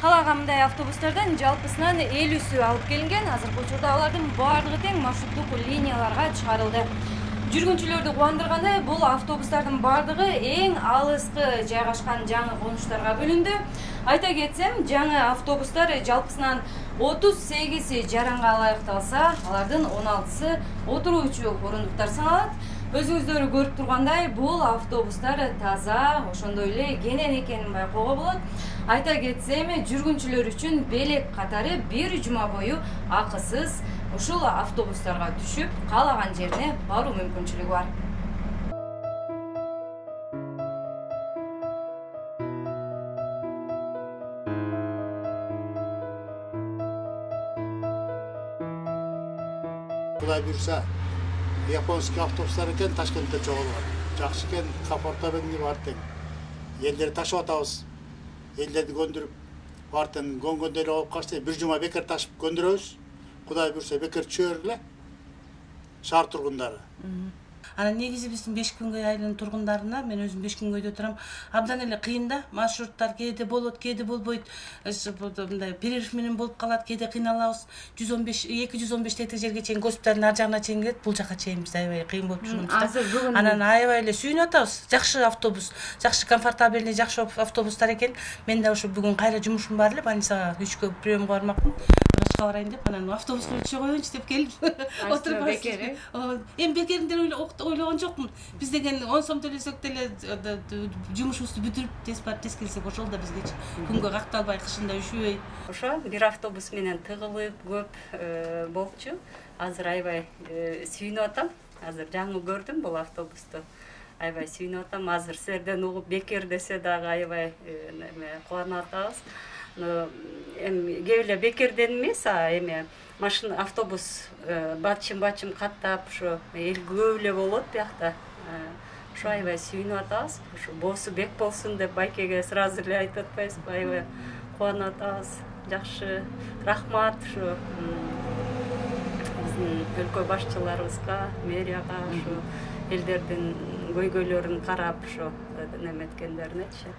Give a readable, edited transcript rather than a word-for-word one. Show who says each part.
Speaker 1: Калага мындай автобустардан жалпысынан 50сү алып келинген. Азыркы учурда алардын баардыгы тең маршруттук линияларга чыгарылды. Жүргүнчүлөрдү кубандырганы бул автобустардын баардыгы эң алыскы жайгашкан жаңы конуштарга бөлүндү. Айта кетсем, жаңы автобустар жалпысынан 38 жаранга ылайыкталса, алардын 16сы отуруучу орундуктар саналат. Өзүңүздөр көрүп тургандай, бул автобустар таза, ошондой эле кенен экенин байкоого болот. Айта кетсем, жүргүнчүлөр үчүн белек катары бир жума бою акысыз ушул автобустарга түшүп, каалаган жерине баруу мүмкүнчүлүгү бар.
Speaker 2: Кудай буйруса, японский автобустар экен Ташкентте чогулган. Жакшы экен, комфортабельный бар тең. Элдерди ташып атабыз. Элдерди көндүрүп, бартын көнгөндөр болуп калса, бир жума бекер ташып көндүрөбүз. Кудай буйруса бекер түшөр эле шаар тургундары.
Speaker 3: Анан негизи биздин Бешкүнгөй айылынын тургундарына, мен өзүм Бешкүнгөйдө турам, абдан эле кыйын да. Маршруттар кээде болот, кээде болбойт. Мындай перерыв менен болуп калат, кээде кыйналабыз. 215 тетик жерге чейин, госпиталдын ар жагына чейин келет, бул жака чейин биз аябай кыйын болуп жүргөнбүз. Анан аябай эле сүйүнүп атабыз. Жакшы автобус, жакшы комфортабельный, жакшы автобустар экен. Мен да ушу бүгүн кайра жумушум бар эле, больницага 3кө приемга бармакмын. Врачка барайын деп, анан автобуска түшө коеюнчу деп келип отуруп. Эми бекериндер ойлогон жокмун. Биз деген 10 сом төлөсөк деле жумушубузду бүтүрүп тез барып тез келсек ошол да бизге күнгө какталбай, кышында üşүбөй.
Speaker 4: Ошо бир автобус менен тыгылып көп болчу. Азыр аябай сүйүнүп атам. Азыр жаңы көрдүм бул автобусту. Аябай сүйүнүп атам. Азыр силерден угуп бекер десе дагы аябай кубанып атабыз. Эми кээ эле бекерден эмес, эми машина автобус бачым каттап ушу эл көп эле болот биякта. Ошо аябай сүйүнүп атабыз. Ушу боосу бек болсун деп байкеге сразу эле айтып атпайбызбы? Аябай кубанып атабыз. Жакшы, рахмат ушу биздин өлкө башчыларыбызга, мэрияга, ушу элдердин көйгөйлөрүн карап ушу неметкендеринечи.